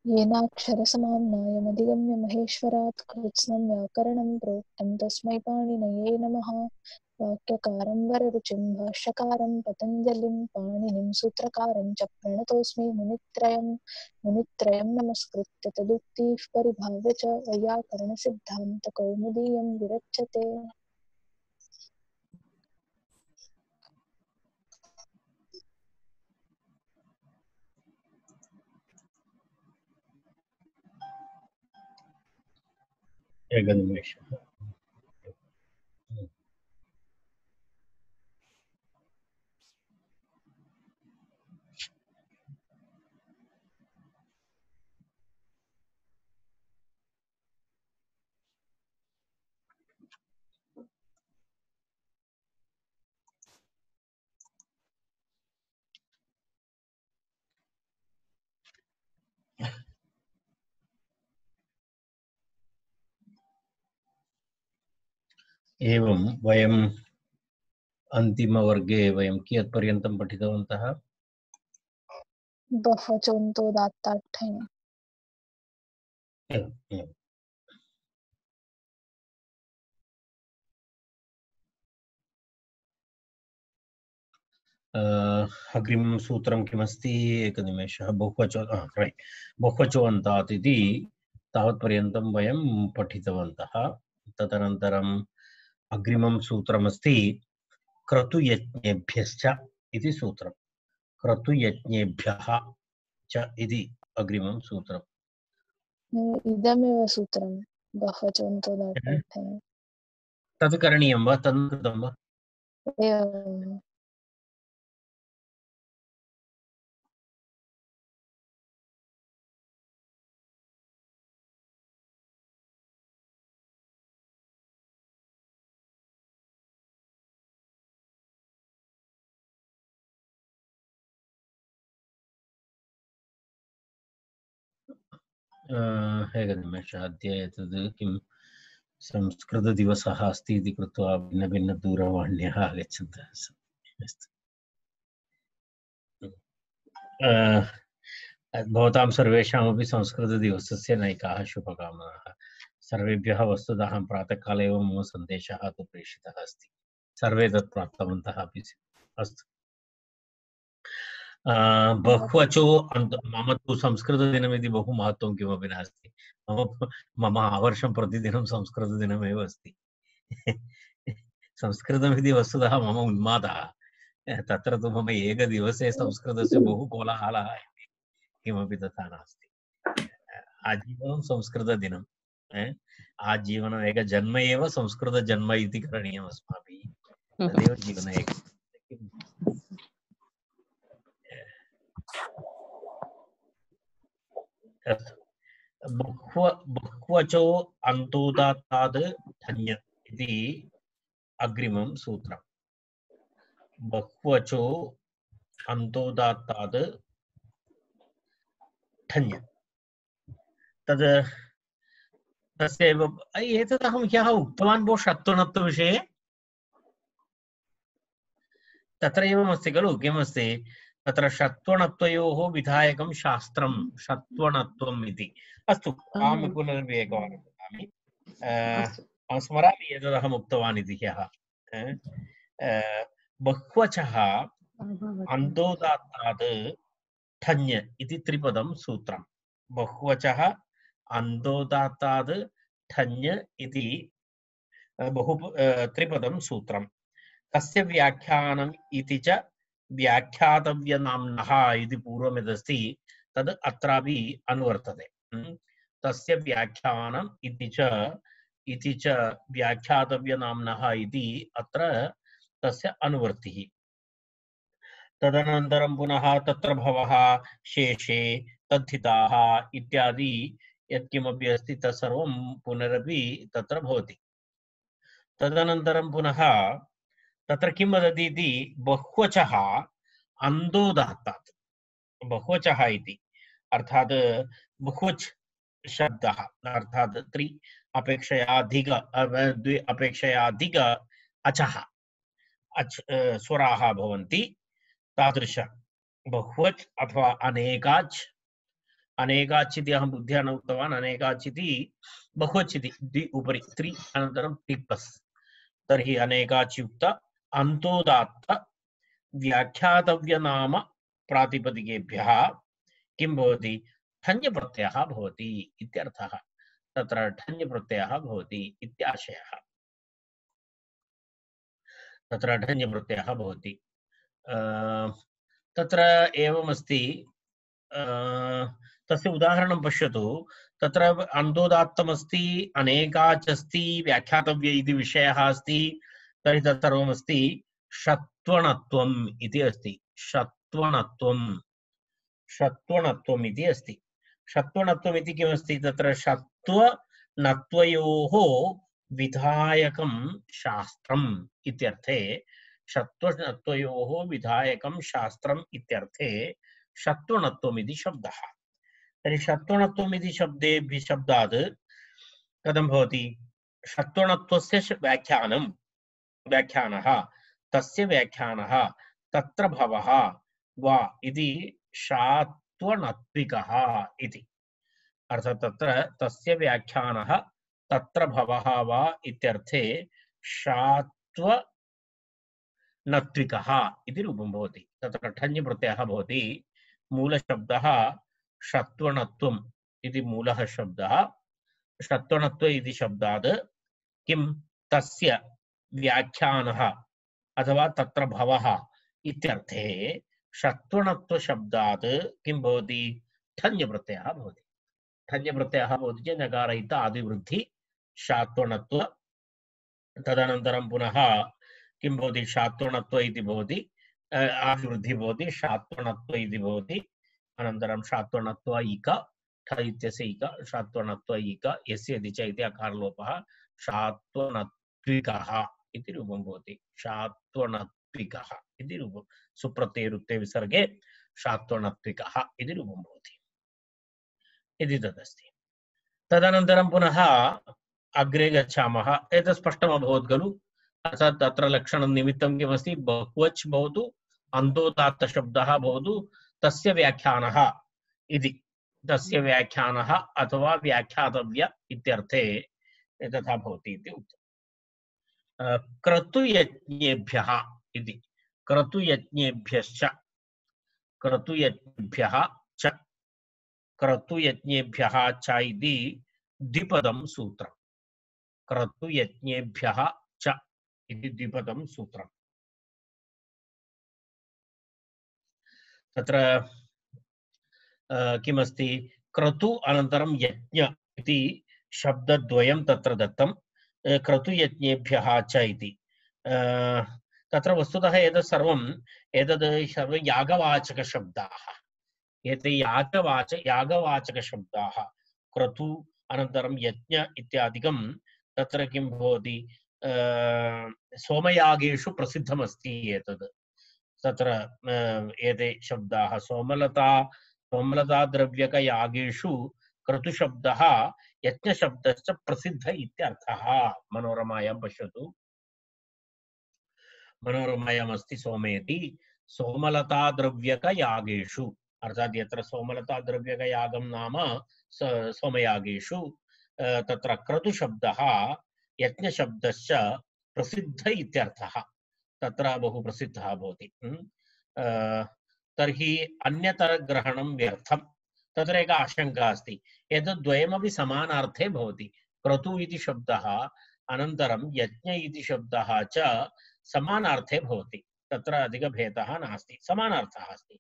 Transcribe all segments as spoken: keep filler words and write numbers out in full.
येनाक्षरसमाम्नायमधिगम्य महेश्वरात् कृत्स्नं व्याकरणं प्रोक्तं तस्मै पाणिनये नमः। वाक्यकारं वररुचिं भाष्यकारं पतञ्जलिं पाणिनिं सूत्रकारं च प्रणतोऽस्मि मुनित्रयं मुनित्रयं नमस्कृत्य तदुक्तिः परिभाव्य च वैयाकरणसिद्धान्तकौमुदीयं विरच्यते। एकनिमेषः। एवं वयम् अन्तिमवर्गे वयं कियत्पर्यन्तं पठितवन्तः? बहवचोन्तोदात्ताठ्ठञ्। एवम्, एवम्। अग्रिमं सूत्रं किमस्ति? एकनिमेषः। बहुवचो रैट् बहुवचोऽन्तात् इति तावत्पर्यन्तं वयं पठितवन्तः। तदनन्तरम् अग्रिमं सूत्रमस्ति क्रतुयज्ञेभ्यश्च इति सूत्रं। क्रतुयज्ञेभ्यः च इति अग्रिमं सूत्रम्। इदमेव सूत्रं बहवचोन्तोदात्ताठ्ठञ्। तद् करणीयं वा? तद् कृतं वा? एवम्। एकनिमेषः। अद्य एतद् किं संस्कृतदिवसः अस्ति इति कृत्वा भिन्नभिन्नदूरवाण्यः आगच्छन्तः सन्ति। अस्तु। भवतां सर्वेषामपि संस्कृतदिवसस्य नैकाः शुभकामनाः। सर्वेभ्यः वस्तुतः अहं प्रातःकाले एव मम सन्देशः तु प्रेषितः अस्ति। सर्वे तत् प्राप्तवन्तः अपि। अस्तु। बहुवचो अन्त मम तु संस्कृतदिनमिति बहु महत्त्वं किमपि नास्ति। मम मम आवर्षं प्रतिदिनं संस्कृतदिनमेव अस्ति। संस्कृतमिति वस्तुतः मम उन्मादः। तत्र तु मम एकदिवसे संस्कृतस्य बहु कोलाहलः किमपि तथा नास्ति। आजीवनं संस्कृतदिनम्। आजीवनम् एक जन्म एव संस्कृतजन्म इति करणीयम् अस्माभिः। तदेव जीवने एक बहुवचो अन्तोदात्तात् धन्य इति अग्रिमं सूत्रम्। बहुवचो अन्तोदात्तात् धन्य तद् तस्यैव एतत् अहं ह्यः उक्तवान् भो षत्वणत्वविषये। तत्र एवमस्ति खलु किमस्ति तत्र षत्वणत्वयोः विधायकं शास्त्रं षत्वणत्वम् इति। अस्तु अहं पुनरपि एकवारं वदामि। अहं स्मरामि एतदहम् उक्तवान् इति ह्यः। बहुवचः अन्तोदात्तात् ठञ् इति त्रिपदं सूत्रं। बहुवचः अन्तोदात्तात् ठञ् इति बहु त्रिपदं सूत्रं। तस्य व्याख्यानम् इति च व्याख्यातव्यनाम्नः इति पूर्वं यदस्ति तद् अत्रापि अनुवर्तते। तस्य व्याख्यानम् इति च इति च व्याख्यातव्यनाम्नः इति अत्र तस्य अनुवर्तिः। तदनन्तरं पुनः तत्र भवः शेषे तद्धिताः इत्यादि यत्किमपि अस्ति तत्सर्वं पुनरपि तत्र भवति। तदनन्तरं पुनः तत्र किं वदति इति बहुवचः अन्तोदात्तात्। बहुवचः इति अर्थात् बहुवच् शब्दः अर्थात् त्रि अपेक्षया अधिक द्वि अपेक्षया अधिक अचः अच् स्वराः भवन्ति। तादृश बहुवच् अथवा अनेकाच् अनेकाच्चिति अहं बुद्ध्या न उक्तवान् अनेकाच्चिति बहुवच्चिति द्वि उपरि त्रि अनन्तरं टिप्पस् तर्हि अनेकाच्युक्त अन्तोदात्त व्याख्यातव्यनाम प्रातिपदिकेभ्यः किं भवति ठञ्प्रत्ययः भवति इत्यर्थः तत्र ठञ्प्रत्ययः भवति इत्याशयः तत्र ठञ्प्रत्ययः भवति तत्र एवमस्ति तस्य उदाहरणं पश्यतु तत्र अन्तोदात्तमस्ति अनेकाचस्ति व्याख्यातव्य इति विषयः अस्ति तर्हि तत् सर्वमस्ति षत्वणत्वम् इति अस्ति षत्वणत्वम् षत्वणत्वम् इति अस्ति षत्वणत्वम् इति किमस्ति तत्र षत्वनत्वयोः विधायकं शास्त्रम् इत्यर्थे षत्वनत्वयोः विधायकं शास्त्रम् इत्यर्थे षत्वणत्वम् इति शब्दः तर्हि षत्वणत्वम् इति शब्देभ्यः शब्दात् कथं भवति षत्वणत्वस्य व्याख्यानं व्याख्यानः तस्य व्याख्यानः तत्र भवः वा इति षत्वणत्विकः इति अर्थात् तत्र तस्य व्याख्यानः तत्र भवः वा इत्यर्थे षत्वनत्विकः इति रूपं भवति तत्र ठञ् प्रत्ययः भवति मूलशब्दः षत्वणत्वम् इति मूलः शब्दः षत्वणत्व इति शब्दात् किं तस्य व्याख्यानः अथवा तत्र भवः इत्यर्थे षत्वणत्व शब्दात् किं भवति ठञ् प्रत्ययः भवति ठञ् प्रत्ययः भवति चेत् नकारहित आदिवृद्धि षत्वणत्व तदनन्तरं पुनः किं भवति षत्वणत्व इति भवति आदिवृद्धि भवति षत्वणत्व इति भवति अनन्तरं षत्वणत्व इक ठ इत्यस्य इक षत्वणत्व इक यस्य इति च इति अकारलोपः षत्वनत्विकः इति रूपं भवति षत्वनत्विकः इति रूपं सुप्रत्ययरुक्ते विसर्गे षत्वनत्विकः इति रूपं भवति इति तदस्ति तदनन्तरं पुनः अग्रे गच्छामः एतत् स्पष्टम् अभवत् खलु अर्थात् तत्र लक्षणं निमित्तं किमस्ति बहुवच् भवतु अन्तोदात्तशब्दः भवतु तस्य व्याख्यानः इति तस्य व्याख्यानः अथवा व्याख्यातव्य इत्यर्थे तथा भवति इति उक्तम् क्रतुयज्ञेभ्यः इति क्रतुयज्ञेभ्यश्च क्रतुयज्ञेभ्यः च क्रतुयज्ञेभ्यः च इति द्विपदं सूत्रम् क्रतुयज्ञेभ्यः च इति द्विपदं सूत्रम् तत्र किमस्ति क्रतु अनन्तरं यज्ञ इति शब्दद्वयं तत्र दत्तं क्रतुयज्ञेभ्यः च इति तत्र वस्तुतः एतत् सर्वम् एतद् सर्व यागवाचकशब्दाः एते यागवाच यागवाचकशब्दाः क्रतु अनन्तरं यज्ञ इत्यादिकं तत्र किं भवति सोमयागेषु प्रसिद्धमस्ति एतद् तत्र एते शब्दाः सोमलता सोमलता द्रव्यकयागेषु क्रतुशब्दः यज्ञशब्दश्च प्रसिद्ध इत्यर्थः मनोरमायां पश्यतु मनोरमायाम् अस्ति सोमेति सोमलता द्रव्यकयागेषु अर्थात् यत्र सोमलता द्रव्यकयागं नाम सोमयागेषु तत्र क्रतुशब्दः यज्ञशब्दश्च प्रसिद्ध इत्यर्थः तत्र बहु प्रसिद्धः भवति तर्हि अन्यतरग्रहणं व्यर्थं तत्र एका आशंका अस्ति एतद् द्वयमपि समानार्थे भवति क्रतु इति शब्दः अनन्तरं यज्ञ इति शब्दः च समानार्थे भवति तत्र अधिकभेदः नास्ति समानार्थः अस्ति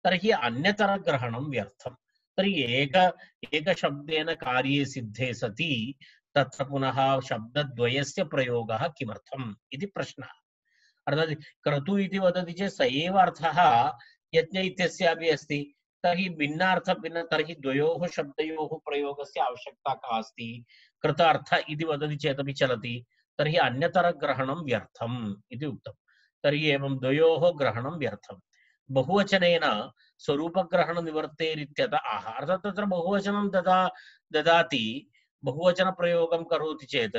तर्हि अन्यतरग्रहणं व्यर्थं तर्हि एक एकशब्देन कार्ये सिद्धे सति तत्र पुनः शब्दद्वयस्य प्रयोगः किमर्थम् इति प्रश्नः अर्थात् क्रतु इति वदति चेत् स एव अर्थः यज्ञ इत्यस्यापि अस्ति तर्हि भिन्नार्थ भिन्न तर्हि द्वयोः शब्दयोः प्रयोगस्य आवश्यकता का अस्ति कृत अर्थ इति वदति चेदपि चलति तर्हि अन्यतरग्रहणं व्यर्थम् इति उक्तं तर्हि एवं द्वयोः ग्रहणं व्यर्थं बहुवचनेन स्वरूपग्रहणनिवर्तेरित्यतः आह अर्थात् तत्र बहुवचनं ददा ददाति बहुवचनप्रयोगं करोति चेत्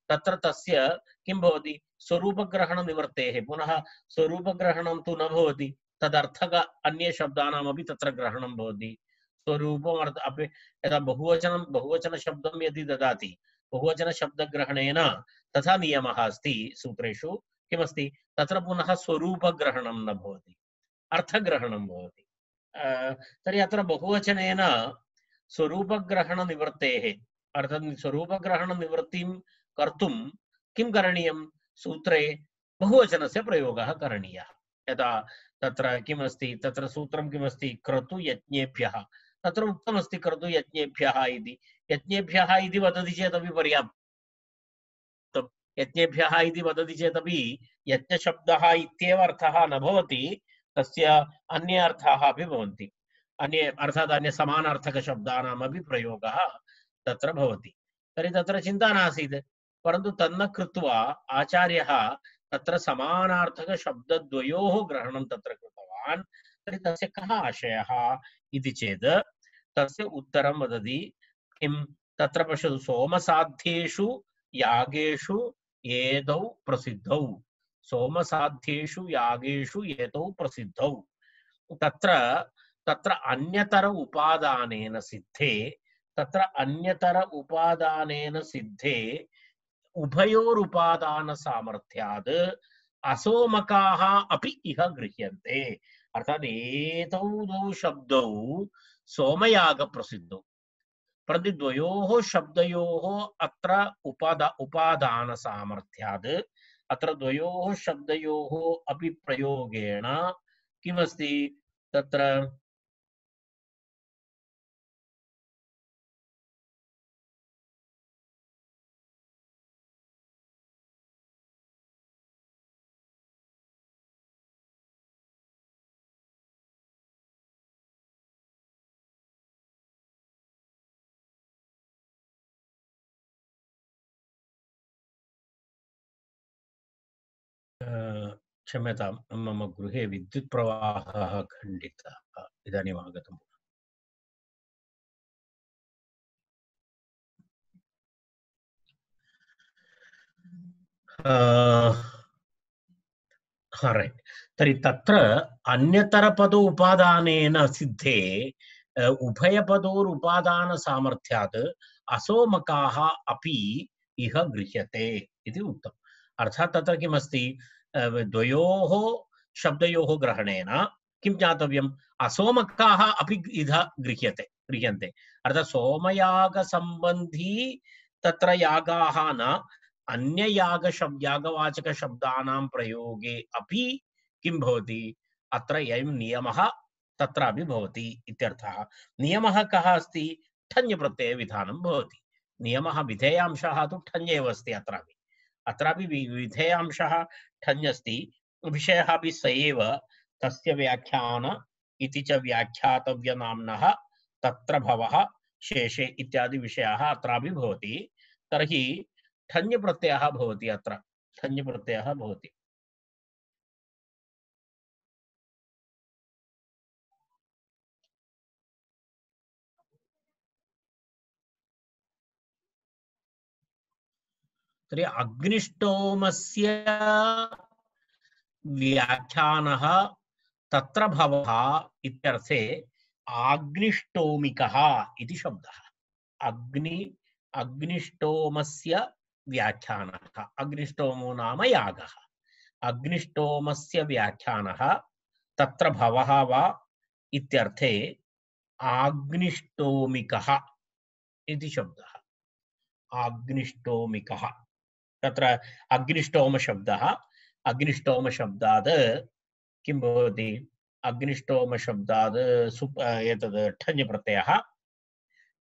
तत्र तस्य किं भवति स्वरूपग्रहणनिवर्तेः पुनः स्वरूपग्रहणं तु न भवति तदर्थक अन्य शब्दानामपि तत्र ग्रहणं भवति स्वरूपम् अर्थ अपि यदा बहुवचनं बहुवचनशब्दं यदि ददाति बहुवचनशब्दग्रहणेन तथा नियमः अस्ति सूत्रेषु किमस्ति तत्र पुनः स्वरूपग्रहणं न भवति अर्थग्रहणं भवति तर्हि अत्र बहुवचनेन स्वरूपग्रहणनिवृत्तेः अर्थात् स्वरूपग्रहणनिवृत्तिं कर्तुं किं करणीयं सूत्रे बहुवचनस्य प्रयोगः करणीयः यदा तत्र किमस्ति तत्र सूत्रं किमस्ति क्रतुयज्ञेभ्यः तत्र उक्तमस्ति क्रतुयज्ञेभ्यः इति यज्ञेभ्यः इति वदति चेदपि पर्याप्तं यज्ञेभ्यः इति वदति चेदपि यज्ञशब्दः इत्येव अर्थः न भवति तस्य अन्ये अर्थाः अपि भवन्ति अन्ये अर्थात् अन्य समानार्थकशब्दानामपि प्रयोगः तत्र भवति तर्हि तत्र चिन्ता नासीत् परन्तु तन्न कृत्वा आचार्यः तत्र समानार्थकशब्दद्वयोः ग्रहणं तत्र कृतवान् तर्हि तस्य कः आशयः इति चेत् तस्य उत्तरं वदति किं तत्र पश्यतु सोमसाध्येषु यागेषु एतौ प्रसिद्धौ सोमसाध्येषु यागेषु एतौ प्रसिद्धौ तत्र तत्र अन्यतर उपादानेन सिद्धे तत्र अन्यतर उपादानेन सिद्धे उभयोरुपादान सामर्थ्यात् असोमकाः अपि इह गृह्यन्ते अर्थात् एतौ द्वौ शब्दौ सोमयाग प्रसिद्धौ परन्तु द्वयोः शब्दयोः अत्र उपादा उपादान सामर्थ्यात् अत्र द्वयोः शब्दयोः अपि प्रयोगेण किमस्ति तत्र क्षम्यतां मम गृहे विद्युत् प्रवाहः खण्डितः इदानीम् आगतम् रैट् तर्हि तत्र अन्यतरपद उपादानेन सिद्धे उभयपदोरुपादानसामर्थ्यात् असोमकाः अपि इह गृह्यते इति उक्तम् अर्थात् तत्र किमस्ति द्वयोः शब्दयोः ग्रहणेन किं ज्ञातव्यम् असोमकाः अपि इह गृह्यते गृह्यन्ते अर्थात् सोमयागसम्बन्धी तत्र यागाः न अन्ययाग शब्द यागवाचक शब्दानां प्रयोगे अपि किं भवति अत्र अयं नियमः तत्रापि भवति इत्यर्थः नियमः कः अस्ति ठञ् प्रत्यय विधानं भवति नियमः विधेयांशः तु ठञ् एव अस्ति अत्रापि अत्रापि विधेयांशः ठञ् अस्ति विषयः अपि स एव तस्य व्याख्यान इति च व्याख्यातव्यनाम्नः तत्र भवः शेषे इत्यादि विषयाः अत्रापि भवति तर्हि ठञ् प्रत्ययः भवति अत्र ठञ् प्रत्ययः भवति तर्हि अग्निष्टोमस्य व्याख्यानः तत्र भवः इत्यर्थे आग्निष्टोमिकः इति शब्दः अग्नि अग्निष्टोमस्य व्याख्यानः अग्निष्टोमो नाम यागः अग्निष्टोमस्य व्याख्यानः तत्र भवः वा इत्यर्थे आग्निष्टोमिकः इति शब्दः आग्निष्टोमिकः तत्र अग्निष्टोम शब्दः अग्निष्टोम शब्दात् किं भवति अग्निष्टोम शब्दात् सुप एतद् ठञ् प्रत्ययः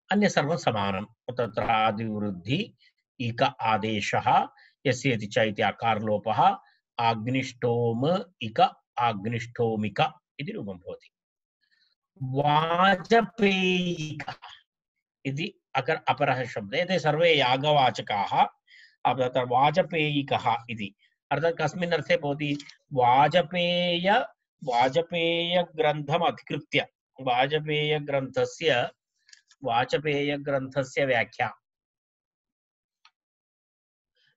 अन्य सर्वं समानं तत्र आदिवृद्धि इक आदेशः यस्य इति च इति अकारलोपः अग्निष्टोम इक अग्निष्टोमिक इति रूपं भवति वाजपेयिकः इति अकर अपरः शब्दः एते सर्वे यागवाचकाः तत्र वाजपेयिकः इति अर्थात् कस्मिन् अर्थे भवति वाजपेय वाजपेयग्रन्थम् अधिकृत्य वाजपेयग्रन्थस्य वाजपेयग्रन्थस्य व्याख्या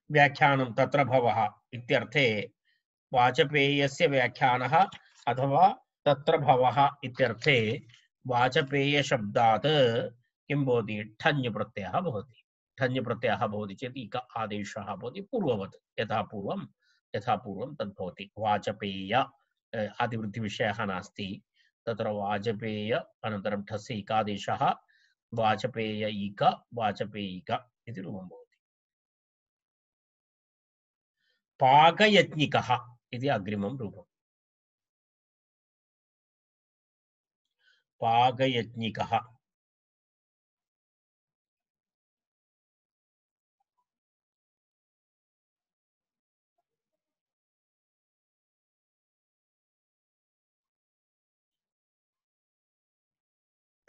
व्याख्यानं तत्र भवः इत्यर्थे वाजपेयस्य व्याख्यानः अथवा तत्र भवः इत्यर्थे वाचपेयशब्दात् किं भवति ठञ् प्रत्ययः भवति ठञ् प्रत्ययः भवति चेत् इक आदेशः भवति पूर्ववत् यथा पूर्वं यथा पूर्वं तद् भवति वाचपेय आदिवृद्धिविषयः नास्ति तत्र वाचपेय अनन्तरं ठस्य इकादेशः वाचपेय इक वाचपेयिक इति रूपं भवति पाकयज्ञिकः इति अग्रिमं रूपम् पाकयज्ञिकः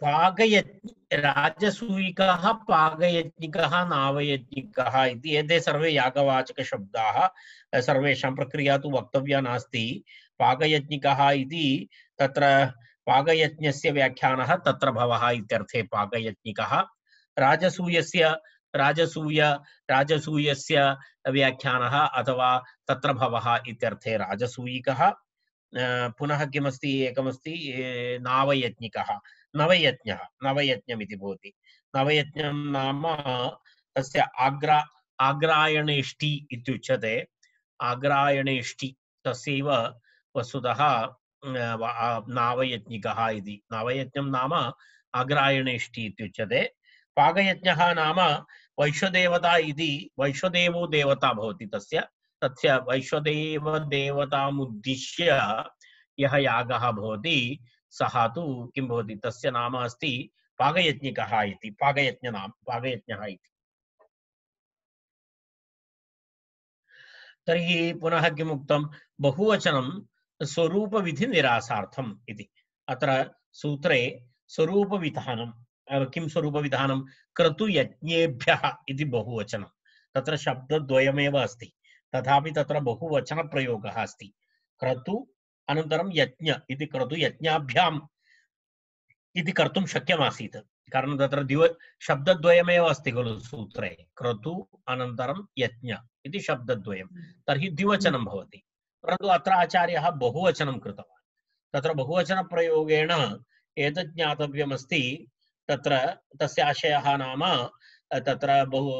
पाकयज्ञ राजसूयिकः पाकयज्ञिकः नावयज्ञिकः इति एते सर्वे यागवाचकशब्दाः सर्वेषां प्रक्रिया तु वक्तव्या नास्ति पाकयज्ञिकः इति तत्र पाकयज्ञस्य व्याख्यानः तत्र भवः इत्यर्थे पाकयज्ञिकः राजसूयस्य राजसूय राजसूयस्य व्याख्यानः अथवा तत्र भवः इत्यर्थे राजसूयिकः पुनः किमस्ति एकमस्ति नावयज्ञिकः नवयज्ञः नवयज्ञमिति भवति नवयज्ञं नाम तस्य आग्रा आग्रायणेष्टि इत्युच्यते आग्रायणेष्टि तस्यैव वस्तुतः नावयज्ञिकः इति नवयज्ञं नाम आग्रायणेष्टि इत्युच्यते पाकयज्ञः नाम वैश्वदेवता इति वैश्वदेवो देवता भवति तस्य तस्य वैश्वदेव देवतामुद्दिश्य यः यागः भवति सः तु किं भवति तस्य नाम अस्ति पाकयज्ञिकः इति पाकयज्ञ नाम पाकयज्ञः इति तर्हि पुनः किम् उक्तं बहुवचनं स्वरूपविधिनिरासार्थम् इति अत्र सूत्रे स्वरूपविधानं किं स्वरूपविधानं क्रतुयज्ञेभ्यः इति बहुवचनं तत्र शब्दद्वयमेव अस्ति तथापि तत्र बहुवचनप्रयोगः अस्ति क्रतु अनन्तरं यज्ञ इति क्रतुयज्ञाभ्याम् इति कर्तुं शक्यमासीत् कारणं तत्र द्विव शब्दद्वयमेव अस्ति खलु सूत्रे क्रतु अनन्तरं यज्ञ इति शब्दद्वयं तर्हि द्विवचनं भवति परन्तु अत्र आचार्यः बहुवचनं कृतवान् तत्र बहुवचनप्रयोगेण एतत् ज्ञातव्यमस्ति तत्र तस्य आशयः नाम तत्र बहु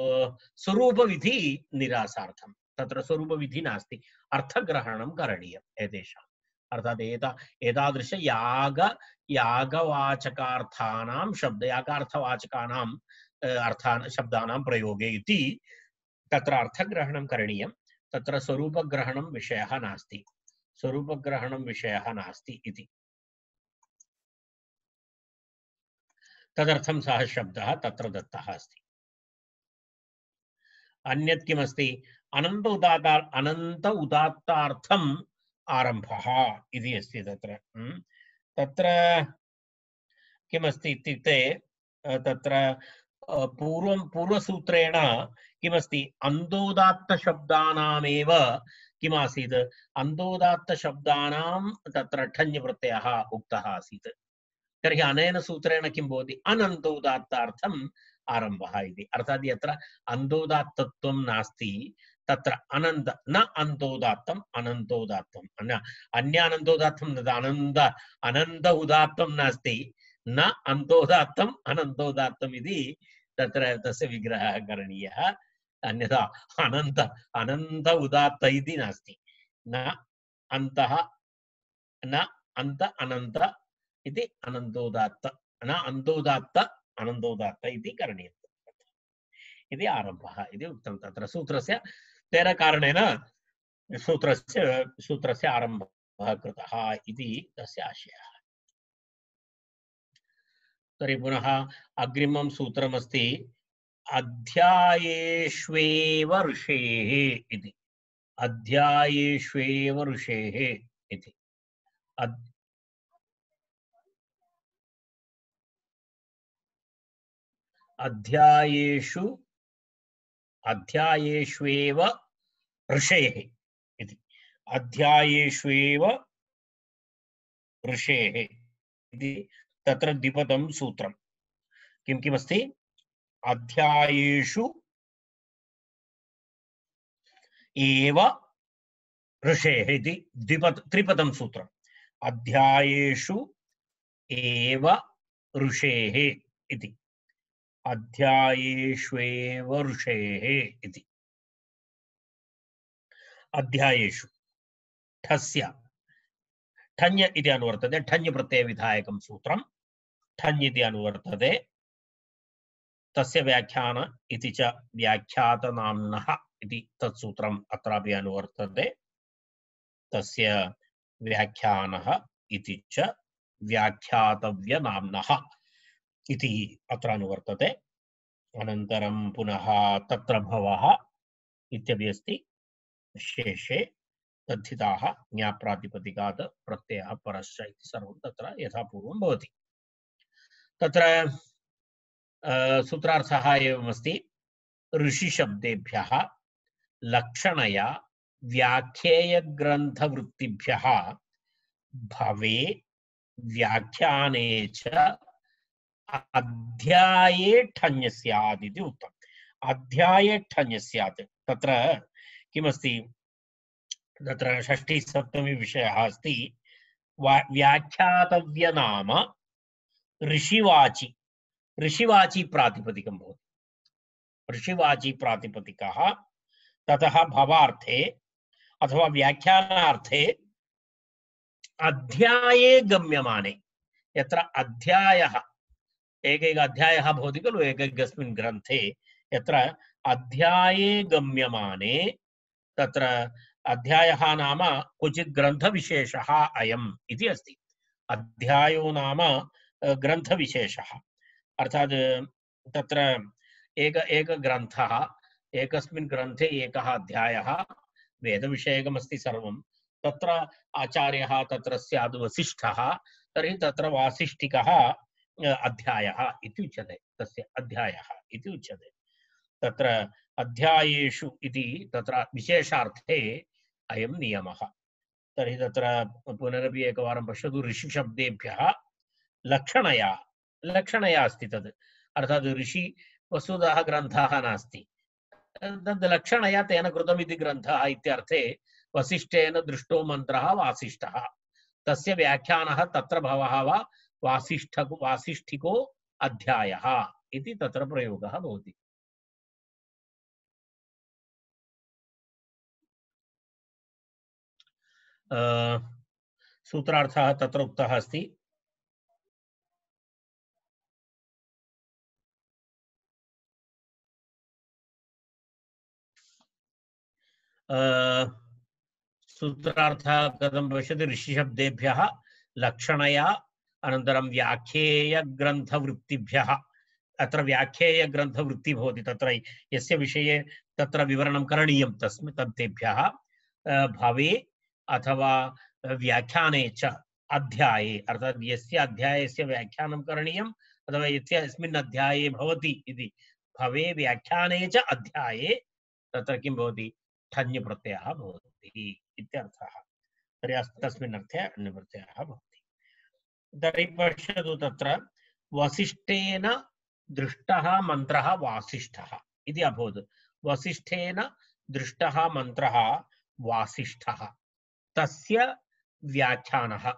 स्वरूपविधि निरासार्थं तत्र स्वरूपविधि नास्ति अर्थग्रहणं करणीयम् एतेषाम् अर्थात् एता एतादृश याग यागवाचकार्थानां शब्द यागार्थवाचकानाम् अर्थान् शब्दानां प्रयोगे इति तत्र अर्थग्रहणं करणीयं तत्र स्वरूपग्रहणं विषयः नास्ति स्वरूपग्रहणं विषयः नास्ति इति तदर्थं सः शब्दः तत्र दत्तः अस्ति अन्यत् किमस्ति अनन्त उदात्ता अनन्त उदात्तार्थम् आरम्भः इति अस्ति तत्र तत्र किमस्ति इत्युक्ते तत्र पूर्वं पूर्वसूत्रेण किमस्ति अन्तोदात्तशब्दानामेव किमासीत् अन्तोदात्तशब्दानां तत्र ठञ् प्रत्ययः उक्तः आसीत् तर्हि अनेन सूत्रेण किं भवति अनन्तोदात्तार्थम् आरम्भः इति अर्थात् यत्र अन्तोदात्तत्वं नास्ति तत्र अनन्त न अन्तोदात्तम् अनन्तोदात्तम् अन्य अन्यानन्तोदात्तं अनन्त अनन्त उदात्तं नास्ति न अन्तोदात्तम् अनन्तोदात्तम् इति तत्र तस्य विग्रहः करणीयः अन्यथा अनन्त अनन्त उदात्त इति नास्ति न अन्तः न अन्त अनन्त इति अनन्तोदात्त न अन्तोदात्त अनन्तोदात्त इति करणीयम् इति आरम्भः इति उक्तं तत्र सूत्रस्य तेन कारणेन सूत्रस्य सूत्रस्य आरम्भः कृतः इति तस्य आशयः तर्हि पुनः अग्रिमं सूत्रमस्ति अध्यायेष्वेव ऋषेः इति अध्यायेष्वेव ऋषेः इति अध्यायेषु अध्यायेष्वेव ऋषेः इति अध्यायेष्वेव ऋषेः इति तत्र द्विपदं सूत्रं किं किमस्ति अध्यायेषु एव ऋषेः इति द्विपद त्रिपदं सूत्रम् अध्यायेषु एव ऋषेः इति अध्यायेष्वेव ऋषेः इति अध्यायेषु ठस्य ठञ् इति अनुवर्तते ठञ् प्रत्ययविधायकं सूत्रं ठञ् इति अनुवर्तते तस्य व्याख्यान इति च व्याख्यातनाम्नः इति तत्सूत्रम् अत्रापि अनुवर्तते तस्य व्याख्यानः इति च व्याख्यातव्यनाम्नः इति अत्र अनुवर्तते अनन्तरं पुनः तत्र भवः इत्यपि अस्ति शेषे तद्धिताः ज्ञाप्रातिपदिकात् प्रत्ययः परश्च इति सर्वं तत्र यथा पूर्वं भवति तत्र सूत्रार्थः एवमस्ति ऋषिशब्देभ्यः लक्षणया व्याख्येयग्रन्थवृत्तिभ्यः भवे व्याख्याने च अध्याये ठञ् स्यात् इति उक्तम् अध्याये ठञ् स्यात् तत्र किमस्ति तत्र षष्ठी सप्तमी विषयः अस्ति व्याख्यातव्यनाम ऋषिवाचि ऋषिवाची प्रातिपदिकं भवति ऋषिवाची प्रातिपदिकः ततः भवार्थे अथवा व्याख्यानार्थे अध्याये गम्यमाने यत्र अध्यायः एकैक अध्यायः भवति खलु एकैकस्मिन् ग्रन्थे यत्र अध्याये गम्यमाने तत्र अध्यायः नाम क्वचित् ग्रन्थविशेषः अयम् इति अस्ति अध्यायो नाम ग्रन्थविशेषः अर्थात् तत्र एक एक ग्रन्थः एकस्मिन् ग्रन्थे एकः अध्यायः वेदविषयकमस्ति सर्वं तत्र आचार्यः तत्र स्याद् वसिष्ठः तर्हि तत्र वासिष्ठिकः अध्यायः इति उच्यते तस्य अध्यायः इति उच्यते तत्र अध्यायेषु इति तत्र विशेषार्थे अयं नियमः तर्हि तत्र पुनरपि एकवारं पश्यतु ऋषिशब्देभ्यः लक्षणया लक्षणया अस्ति तद् अर्थात् ऋषि वस्तुतः ग्रन्थः नास्ति तद् लक्षणया तेन कृतम् इति ग्रन्थः इत्यर्थे वसिष्ठेन दृष्टो मन्त्रः वासिष्ठः तस्य व्याख्यानः तत्र भवः वा वासिष्ठको वासिष्ठिको अध्यायः इति तत्र प्रयोगः भवति सूत्रार्थः तत्र उक्तः अस्ति सूत्रार्थः कथं पश्यति ऋषिशब्देभ्यः लक्षणया अनन्तरं व्याख्येयग्रन्थवृत्तिभ्यः अत्र व्याख्येयग्रन्थवृत्तिः भवति तत्र यस्य विषये तत्र विवरणं करणीयं तस्मिन् तत्तेभ्यः भवे अथवा व्याख्याने च अध्याये अर्थात् यस्य अध्यायस्य व्याख्यानं करणीयम् अथवा यस्य अस्मिन् अध्याये भवति इति भवे व्याख्याने च अध्याये तत्र किं भवति ठञ् प्रत्ययः भवति इत्यर्थः तर्हि तस्मिन् अर्थे अण् प्रत्ययः भवति तर्हि पश्यतु तत्र वसिष्ठेन दृष्टः मन्त्रः वासिष्ठः इति अभवत् वसिष्ठेन दृष्टः मन्त्रः वासिष्ठः तस्य व्याख्यानः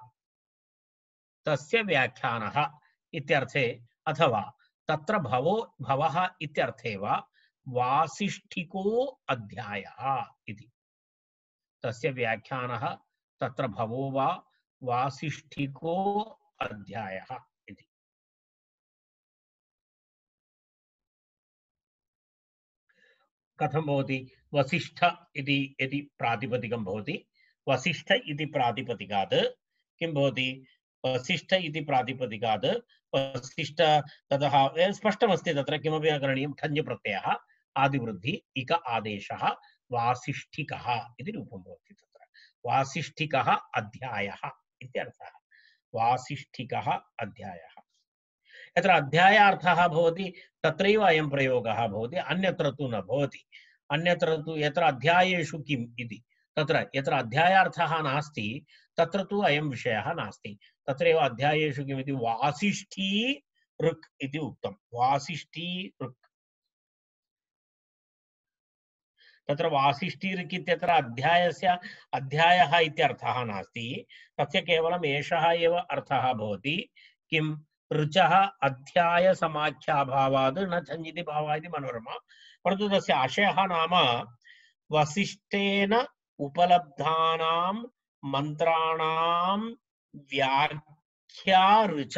तस्य व्याख्यानः इत्यर्थे अथवा तत्र भवो भवः इत्यर्थे वा वासिष्ठिको अध्यायः इति तस्य व्याख्यानः तत्र भवो वा वासिष्ठिको अध्यायः इति कथं भवति वसिष्ठ इति यदि प्रातिपदिकं भवति वसिष्ठ इति प्रातिपदिकात् किं भवति वसिष्ठ इति प्रातिपदिकात् वसिष्ठ ततः स्पष्टमस्ति तत्र किमपि न करणीयं ठञ् प्रत्ययः आदिवृद्धि इक आदेशः वासिष्ठिकः इति रूपं भवति तत्र वासिष्ठिकः अध्यायः इत्यर्थः वासिष्ठिकः अध्यायः यत्र अध्यायार्थः भवति तत्रैव अयं प्रयोगः भवति अन्यत्र तु न भवति अन्यत्र तु यत्र अध्यायेषु किम् इति तत्र यत्र अध्यायार्थः नास्ति तत्र तु अयं विषयः नास्ति तत्रैव अध्यायेषु किमिति वासिष्ठी ऋक् इति उक्तं वासिष्ठी ऋक् तत्र वासिष्ठी ऋक् इत्यत्र अध्यायस्य अध्यायः इत्यर्थः नास्ति तस्य केवलम् एषः एव अर्थः भवति किं ऋचः अध्याय समाख्याभावाद् न छञ्जिति भावः इति मनोरमा। परन्तु तस्य आशयः नाम वसिष्ठेन उपलब्धानां मन्त्राणां व्याख्या ऋच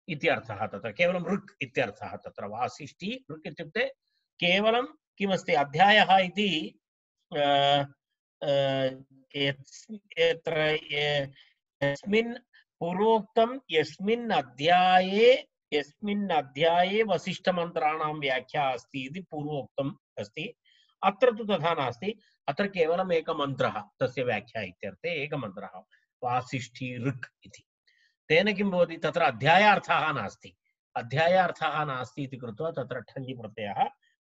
इति अर्थः। तत्र केवलं ऋक् इत्यर्थः। तत्र वासिष्ठी ऋक् इत्युक्ते केवलं किमस्ति अध्यायः इति यत्र यस्मिन् पूर्वोक्तं यस्मिन् अध्याये यस्मिन् अध्याये वसिष्ठमन्त्राणां व्याख्या अस्ति इति पूर्वोक्तम् अस्ति। अत्र तु तथा नास्ति। अत्र केवलम् एकमन्त्रः तस्य व्याख्या इत्यर्थे एकमन्त्रः वासिष्ठी ऋक् इति। तेन किं भवति तत्र अध्यायार्थः नास्ति। अध्यायार्थः नास्ति इति कृत्वा तत्र ठञ् प्रत्ययः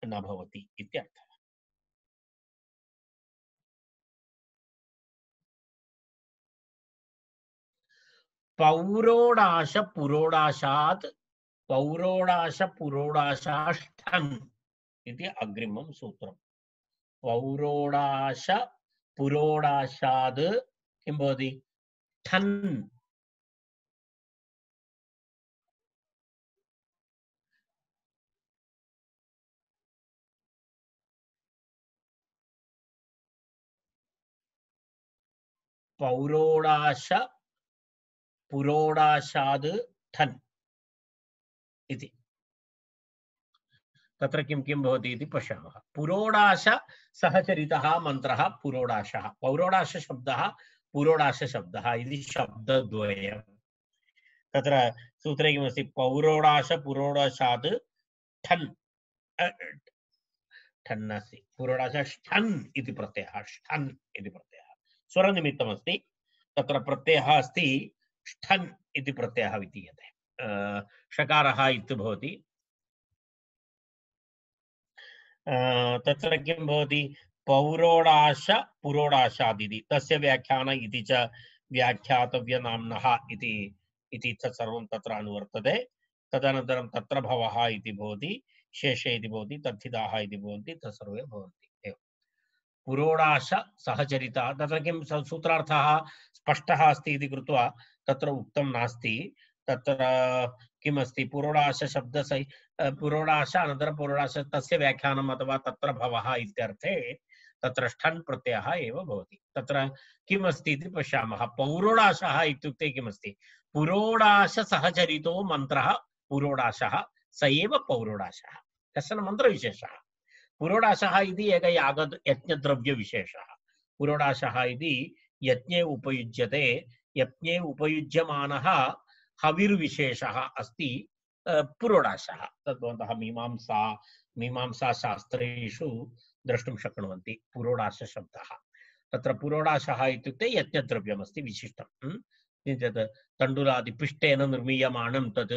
न भवति इत्यर्थः। पौरोडाश पुरोडाशात् पौरोडाश पुरोडाशाष्ठन् इति अग्रिमं सूत्रम्। पौरोडाश पुरोडाशाद् किं भवति ठन् पौरोडाश पुरोडाशाद् ठन् इति। तत्र किं किं भवति इति पश्यामः। पुरोडाश सहचरितः मन्त्रः पुरोडाशः। पौरोडाश शब्दः पुरोडाश शब्दः इति शब्दद्वयम्। तत्र सूत्रे किमस्ति पौरोडाश पुरोडाशात् ठन् ठन् अस्ति। पुरोडाश ष्ठन् इति प्रत्ययः ष्ठन् इति प्रत्ययः स्वरनिमित्तमस्ति। तत्र प्रत्ययः अस्ति ष्ठन् इति प्रत्ययः विधीयते। षकारः इति भवति। तत्र किं भवति पौरोडाश पुरोडाशादिति तस्य व्याख्यान इति च व्याख्यातव्यनाम्नः इति इति तत्सर्वं तत्र अनुवर्तते। तदनन्तरं तत्र भवः इति भवति शेषे इति भवति तद्धिताः इति भवन्ति तत्सर्वे भवन्ति एवं। पुरोडाश सहचरिता तत्र किं सूत्रार्थः स्पष्टः अस्ति इति कृत्वा तत्र उक्तं नास्ति। तत्र किमस्ति पुरोडाश शब्दसहि पुरोडाश अनन्तरं पुरोडाश तस्य व्याख्यानम् अथवा तत्र भवः इत्यर्थे तत्र ष्ठन् प्रत्ययः एव भवति। तत्र किमस्ति इति पश्यामः। पौरोडाशः इत्युक्ते किमस्ति पुरोडाश सहचरितो मन्त्रः पुरोडाशः स एव पौरोडाशः कश्चन मन्त्रविशेषः। पुरोडाशः इति एक याग यज्ञद्रव्यविशेषः। पुरोडाशः इति यज्ञे उपयुज्यते यज्ञे उपयुज्यमानः हविर्विशेषः अस्ति पुरोडाशः। तद्भवन्तः मीमांसा मीमांसा शास्त्रेषु द्रष्टुं शक्नुवन्ति पुरोडाश शब्दः। तत्र पुरोडाशः इत्युक्ते यज्ञद्रव्यमस्ति विशिष्टं। किञ्चित् तण्डुलादिपिष्टेन निर्मीयमाणं तत्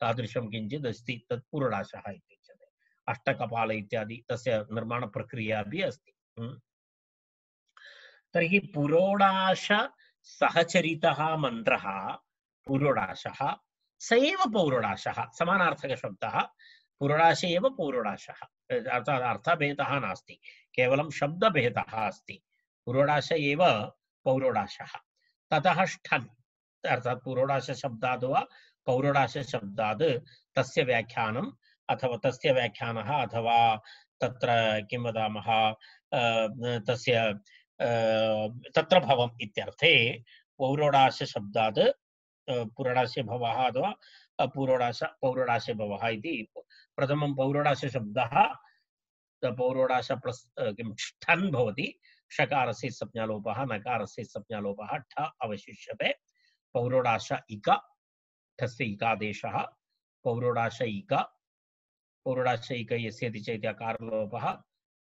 तादृशं किञ्चित् अस्ति तत् पुरोडाशः इति उच्यते। अष्टकपाल इत्यादि तस्य निर्माणप्रक्रिया अपि अस्ति। तर्हि पुरोडाश सहचरितः मन्त्रः पुरोडाशः स एव पौरोडाशः समानार्थकशब्दः। पुरोडाश एव पौरोडाशः अर्थात् अर्थभेदः नास्ति केवलं शब्दभेदः अस्ति। पुरोडाश एव पौरोडाशः। ततः ष्ठन् अर्थात् पुरोडाश शब्दाद् वा पौरोडाश शब्दाद् तस्य व्याख्यानम् अथवा तस्य व्याख्यानः अथवा तत्र किं वदामः तस्य तत्र भवम् इत्यर्थे पौरोडाश शब्दाद् पुरोडाशे भवः अथवा पुरोडाश पौरोडाशे भवः इति प्रथमं पौरोडाश शब्दः पौरोडाश प्लस् किं ष्ठन् भवति। षकारस्य संज्ञालोपः नकारस्य संज्ञालोपः ठ अवशिष्यते। पौरोडाश इक ठस्य इकादेशः पौरोडाश इक पौरोडाश इक यस्यति चेत् अकारलोपः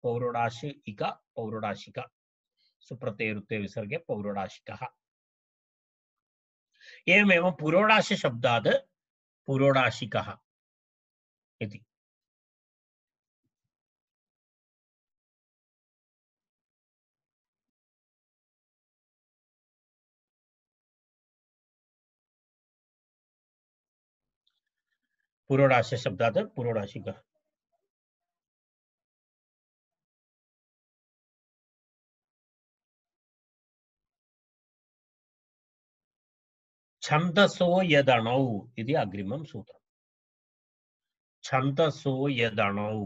पौरोडाश इक पौरोडाशिक सुप्रत्ययरुत्ते विसर्गे पौरोडाशिकः। एवमेव पुरोडाश शब्दात् पुरोडाशिकः इति। पुरोडाश शब्दात् पुरोडाशिकः। छन्दसो यदणौ इति अग्रिमं सूत्रम्। छन्दसो यदणौ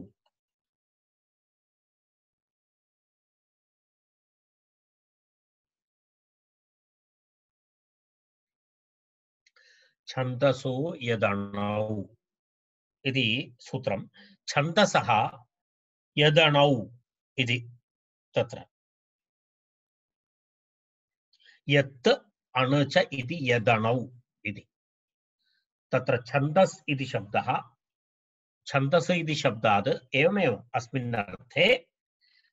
छन्दसो यदणौ इति सूत्रं। छन्दसः यदणौ इति तत्र यत् अणुच इति यदणौ इति तत्र छन्दस् इति शब्दः छन्दस् इति शब्दात् एवमेव अस्मिन् अर्थे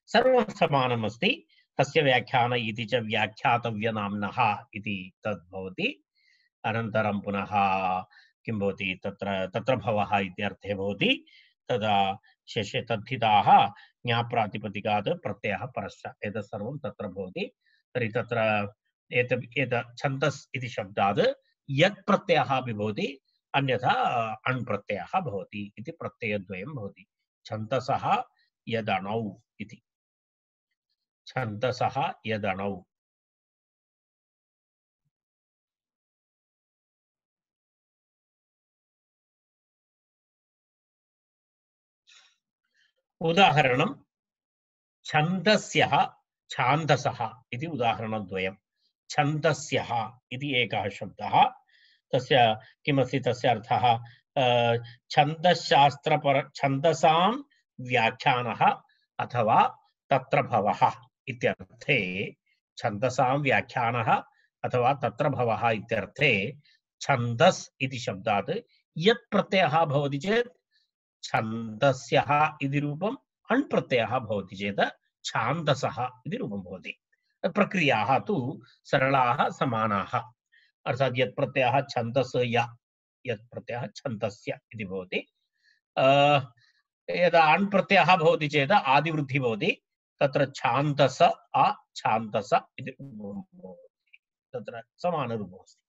सर्वं समानम् अस्ति। तस्य व्याख्यान इति च व्याख्यातव्यनाम्नः इति तद् भवति। अनन्तरं पुनः किं भवति तत्र तत्र भवः इति अर्थे भवति। तदा शेषे तद्धिताः ज्ञाप्रातिपदिकात् प्रत्ययः परश्च एतत् सर्वं तत्र भवति। तर्हि तत्र एतत् एतत् छन्दस् इति शब्दात् यत् प्रत्ययः अपि भवति, अन्यथा अण् प्रत्ययः भवति इति प्रत्ययद्वयं भवति। छन्दसः यदणौ इति छन्दसः यदणौ। उदाहरणं छन्दस्यः छान्दसः इति उदाहरणद्वयं। छन्दस्यः इति एकः शब्दः, तस्य किमस्ति तस्य अर्थः छन्दशास्त्रपर छन्दसां व्याख्यानः अथवा तत्र भवः इत्यर्थे छन्दसां व्याख्यानः अथवा तत्र भवः इत्यर्थे छन्दस् इति शब्दात् यत् प्रत्ययः भवति चेत् छन्दस्यः इति रूपम् अण् प्रत्ययः भवति चेत् छान्दसः इति रूपं भवति। प्रक्रियाः तु सरलाः समानाः। अर्थात् यत् प्रत्ययः छन्दस्य यत् प्रत्ययः छन्दस्य इति भवति। यदा अण् प्रत्ययः भवति चेत् आदिवृद्धिः भवति। तत्र छान्दस अ छान्दस इति तत्र समानरूपम् अस्ति।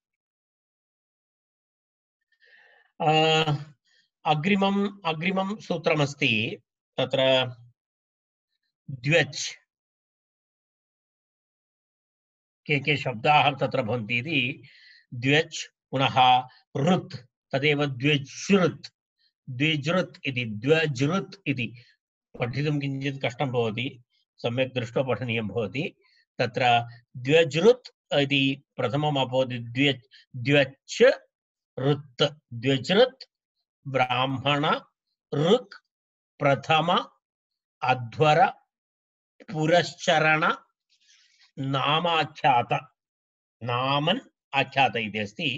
अग्रिमम् अग्रिमं सूत्रमस्ति तत्र द्व्यच्। के के शब्दाः तत्र भवन्ति इति द्व्यच् पुनः ऋत् तदेव द्व्यज्ऋत् द्विजृत् इति द्व्यजृत् इति पठितुं किञ्चित् कष्टं भवति, सम्यक् दृष्ट्वा पठनीयं भवति। तत्र द्व्यजृत् इति प्रथमम् अभवत् द्व्य द्व्यच् ऋत् द्व्यजृत् ब्राह्मण ऋक् प्रथम अध्वर पुरश्चरण नामाख्यात नामन् आख्यात इति अस्ति।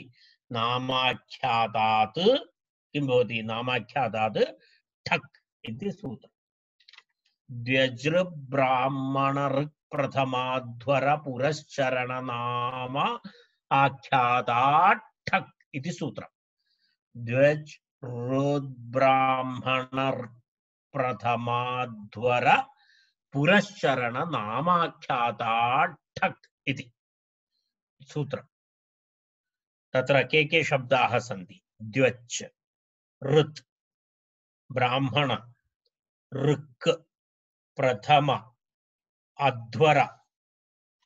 नामाख्यातात् किं भवति नामाख्यातात् ठक् इति सूत्रम्। द्व्यजृ ब्राह्मण ऋक् प्रथमाध्वर पुरश्चरण नाम आख्यातात् ठक् इति सूत्रम्। द्व्यज् ब्राह्मण प्रथमाध्वर पुरश्चरण नामाख्यातात् ठक् इति सूत्रम्। तत्र के के शब्दाः सन्ति? द्व्यच् ऋत् ब्राह्मण ऋक् प्रथम अध्वर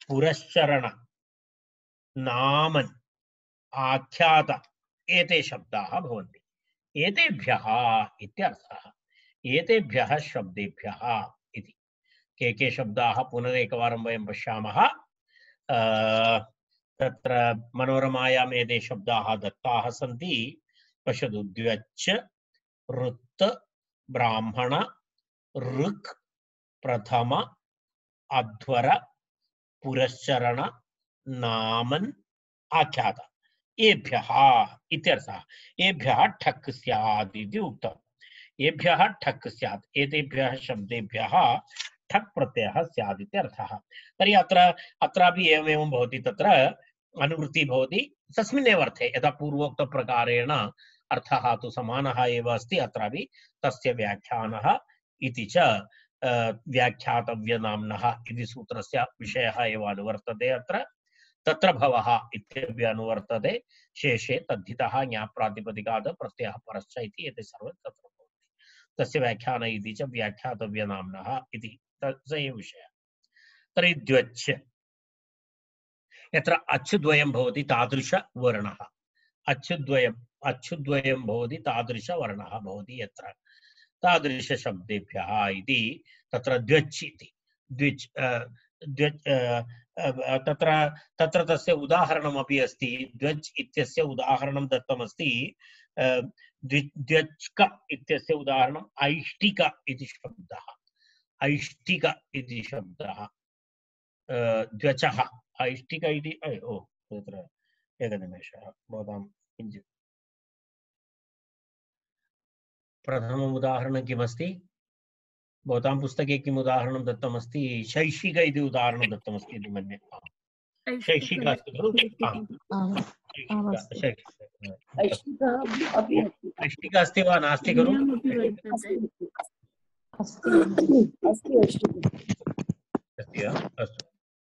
पुरश्चरण नामन् आख्यात एते शब्दाः भवन्ति। एतेभ्यः इत्यर्थः। एतेभ्यः शब्देभ्यः इति के के शब्दाः पुनरेकवारं वयं पश्यामः। तत्र मनोरमायाम् एते शब्दाः दत्ताः सन्ति। पश्यतु द्व्यच् ऋत् ब्राह्मण ऋक् प्रथम अध्वर पुरश्चरण नामन् आख्यात एभ्यः इत्यर्थः। एभ्यः ठक् स्यात् इति उक्तम्। एभ्यः ठक् स्यात् एतेभ्यः शब्देभ्यः ठक् प्रत्ययः स्यात् इति अर्थः। तर्हि अत्र अत्रापि एवमेवं भवति। तत्र अनुवृत्तिः भवति तस्मिन्नेव अर्थे यथा पूर्वोक्तप्रकारेण अर्थः तु समानः एव अस्ति। अत्रापि तस्य व्याख्यानः इति च व्याख्यातव्यनाम्नः इति सूत्रस्य विषयः एव अनुवर्तते। अत्र तत्र भवः इत्यपि अनुवर्तते। शेषे तद्धितः ज्ञाप्रातिपदिकात् प्रत्ययः परश्च इति एते सर्वे तत्र भवन्ति। तस्य व्याख्यान इति च व्याख्यातव्यनाम्नः इति स एव विषयः। तर्हि द्व्यच् यत्र अच्युद्वयं भवति तादृशवर्णः अच्युद्वयम् अच्युद्वयं भवति तादृशवर्णः भवति यत्र तादृशशब्देभ्यः इति तत्र द्व्यच् इति द्विच् द्व्यच् तत्र तत्र तस्य उदाहरणमपि अस्ति द्व्यच् इत्यस्य उदाहरणं दत्तमस्ति द्व्यच्क इत्यस्य उदाहरणम् ऐष्टिक इति शब्दः ऐष्टिक इति शब्दः द्व्यचः ऐष्टिक इति ओ तत्र एकनिमेषः भवतां किञ्चित् प्रथमम् उदाहरणं किमस्ति भवतां पुस्तके किम् उदाहरणं दत्तमस्ति शैक्षिक इति उदाहरणं दत्तमस्ति इति मन्ये शैक्षिक अस्ति खलु ऐष्टिक अस्ति वा नास्ति खलु अस्ति वा अस्तु